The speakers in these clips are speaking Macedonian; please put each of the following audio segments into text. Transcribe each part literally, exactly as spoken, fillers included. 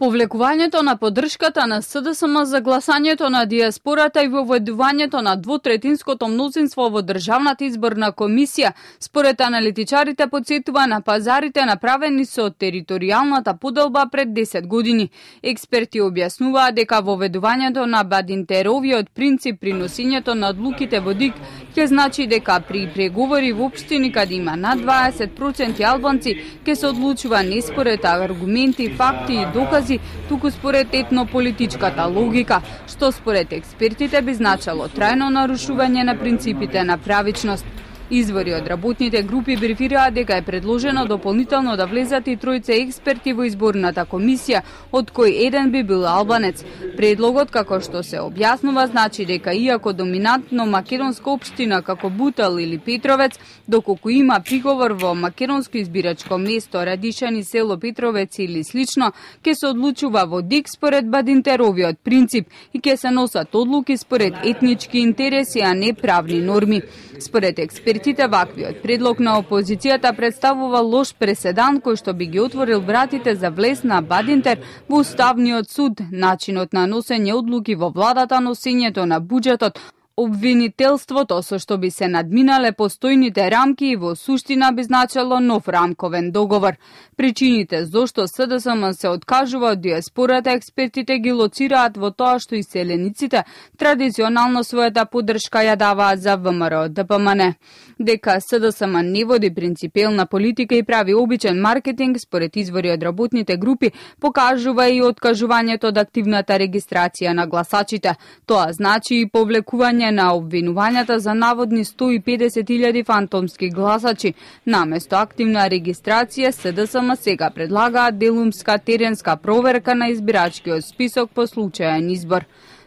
Повлекувањето на поддршката на СДСМ за гласањето на дијаспората и воведувањето на двотретинското мнозинство во Државната изборна комисија, според аналитичарите, потсетува на пазарите направени со територијалната поделба пред десет години. Експерти објаснуваат дека воведувањето на бадинтеровиот принцип при носењето на одлуките во ДИК ќе значи дека при преговори во општини каде има над дваесет проценти албанци ќе се одлучува не според аргументи, факти и докази, туку според етнополитичката логика, што според експертите би значало трајно нарушување на принципите на правичност. Извори од работните групи брифираат дека е предложено дополнително да влезат и тројца експерти во изборната комисија, од кој еден би бил албанец. Предлогот, како што се објаснува, значи дека иако доминантно македонска општина како Бутел или Петровец, доколку има приговор во македонско избирачко место Радишани, село Петровец или слично, ќе се одлучува во ДИК според бадинтеровиот принцип и ќе се носат одлуки според етнички интереси, а не правни норми. Според експертите, ваквиот предлог на опозицијата представува лош преседан кој што би ги отворил вратите за влез на бадинтер во Уставниот суд, начинот на носење одлуки во владата, носењето на буџетот, обвинителството со што би се надминале постојните рамки и во суштина би значело нов рамковен договор. Причините зошто СДСМ се откажува од дијаспората, експертите ги лоцираат во тоа што иселениците традиционално својата поддршка ја даваат за ВМРО Д П М Н. Дека СДСМ не води принципелна политика и прави обичен маркетинг, според извори од работните групи, покажува и откажувањето од активната регистрација на гласачите. Тоа значи и повлекување на обвинувањата за наводни сто и педесет илјади фантомски гласачи. Наместо активна регистрација, СДСМ сега предлагаат делумска теренска проверка на избирачкиот список по случаен избор.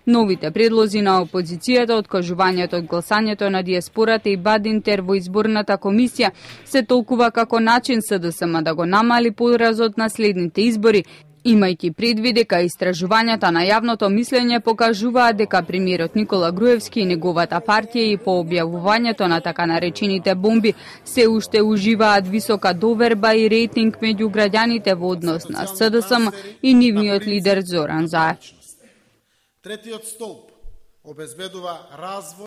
Новите предлози на опозицијата, откажувањето од гласањето на дијаспората и бадинтер во изборната комисија се толкува како начин СДСМ да го намали поразот на следните избори, имајќи предвид дека истражувањата на јавното мислење покажуваат дека премиерот Никола Груевски и неговата партија и по објавувањето на така наречените бомби се уште уживаат висока доверба и рейтинг меѓу граѓаните во однос на СДСМ и нивниот лидер Зоран Заев. Третиот столб обезбедува развој